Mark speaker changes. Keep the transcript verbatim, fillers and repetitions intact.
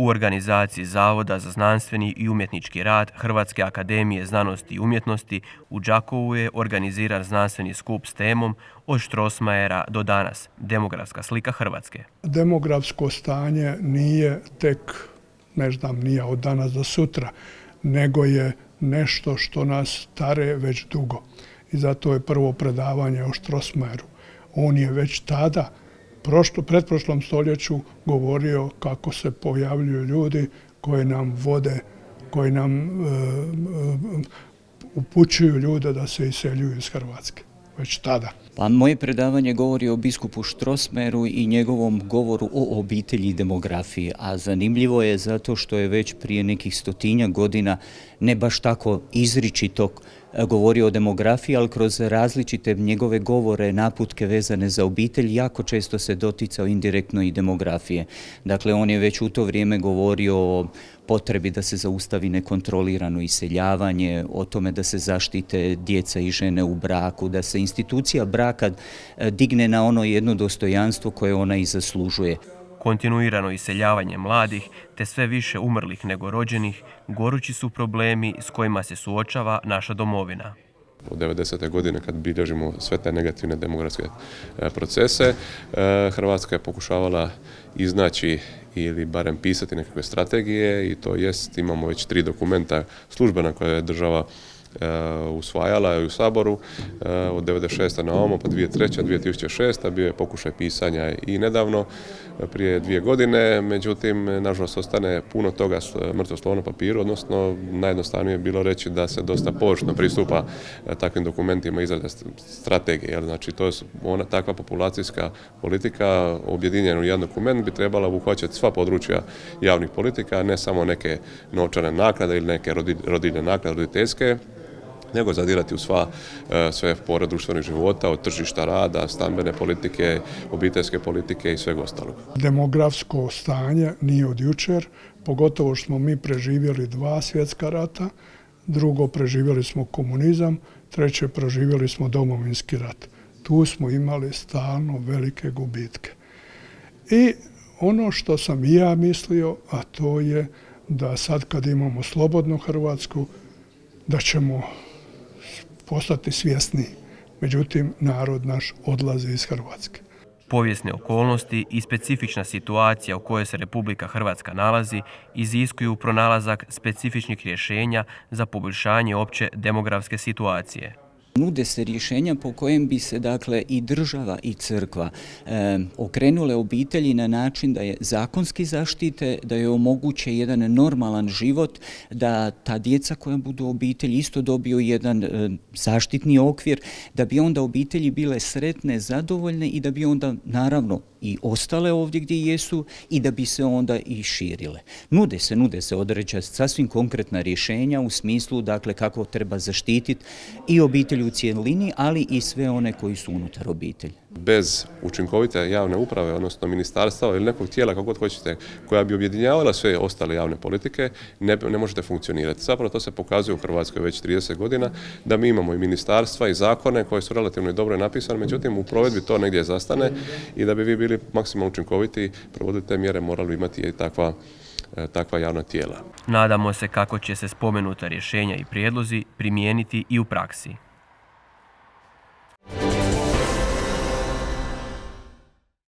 Speaker 1: U organizaciji Zavoda za znanstveni i umjetnički rad Hrvatske akademije znanosti i umjetnosti u Đakovu je organiziran znanstveni skup s temom Od Strossmayera do danas, demografska slika Hrvatske.
Speaker 2: Demografsko stanje nije tek, ne znam, nije od danas do sutra, nego je nešto što nas tare već dugo. I zato je prvo predavanje o Strossmayeru. On je već tada, prošlo, pretprošlom stoljeću, govorio kako se pojavljuju ljudi koji nam vode, koji nam e, e, upućuju ljude da se iseljuju iz Hrvatske. Već tada.
Speaker 3: Pa moje predavanje govori o biskupu Strossmayeru i njegovom govoru o obitelji i demografiji, a zanimljivo je zato što je već prije nekih stotinjak godina ne baš tako izričito govorio o demografiji, ali kroz različite njegove govore, naputke vezane za obitelj, jako često se doticao indirektno i demografije. Dakle, on je već u to vrijeme govorio o potrebi da se zaustavi nekontrolirano iseljavanje, o tome da se zaštite djeca i žene u braku, da se institucija braka digne na ono jedno dostojanstvo koje ona i zaslužuje.
Speaker 1: Kontinuirano iseljavanje mladih te sve više umrlih nego rođenih gorući su problemi s kojima se suočava naša domovina.
Speaker 4: Od devedesete godine kad bilježimo sve te negativne demografske procese, Hrvatska je pokušavala iznaći ili barem pisati nekakve strategije i to jest, imamo već tri dokumenta službena koje je država usvajala i u Saboru od devedeset šeste na ovamo, pa dvije tisuće treće, dvije tisuće šeste bio je pokušaj pisanja i nedavno, prije dvije godine, međutim, nažalost, ostane puno toga mrtvo slovo na papiru, odnosno najjednostavnije je bilo reći da se dosta površno pristupa takvim dokumentima izrade strategije. Znači, to je ona takva populacijska politika objedinjena u jedan dokument bi trebala obuhvaćati sva područja javnih politika, ne samo neke novčane naknade ili neke rodiljne naknade, roditeljske, nego zadirati u sva, sve pore društvenih života, od tržišta rada, stambene politike, obiteljske politike i svega ostalog.
Speaker 2: Demografsko stanje nije od jučer, pogotovo što smo mi preživjeli dva svjetska rata, drugo preživjeli smo komunizam, treće preživjeli smo Domovinski rat. Tu smo imali stalno velike gubitke. I ono što sam i ja mislio, a to je da sad kad imamo slobodnu Hrvatsku, da ćemo postati svjesni. Međutim, narod naš odlazi iz Hrvatske.
Speaker 1: Povijesne okolnosti i specifična situacija u kojoj se Republika Hrvatska nalazi iziskuju pronalazak specifičnih rješenja za poboljšanje opće demografske situacije.
Speaker 3: Nude se rješenja po kojem bi se dakle i država i crkva e, okrenule obitelji na način da je zakonski zaštite, da je omoguće jedan normalan život, da ta djeca koja budu u obitelji isto dobiju jedan e, zaštitni okvir, da bi onda obitelji bile sretne, zadovoljne i da bi onda naravno i ostale ovdje gdje jesu i da bi se onda i širile. Nude se, nude se određena sasvim konkretna rješenja u smislu dakle kako treba zaštititi i obitelj u cijelini, ali i sve one koji su unutar obitelji.
Speaker 4: Bez učinkovite javne uprave, odnosno ministarstava ili nekog tijela, kako god hoćete, koja bi objedinjavala sve ostale javne politike, ne, ne možete funkcionirati. Zapravo to se pokazuje u Hrvatskoj već trideset godina, da mi imamo i ministarstva i zakone koje su relativno dobro napisane, međutim u provedbi to negdje zastane i da bi vi bili maksimalno učinkoviti, provoditi te mjere, morali imati i takva takva javna tijela.
Speaker 1: Nadamo se kako će se spomenuta rješenja i prijedlozi primijeniti i u praksi.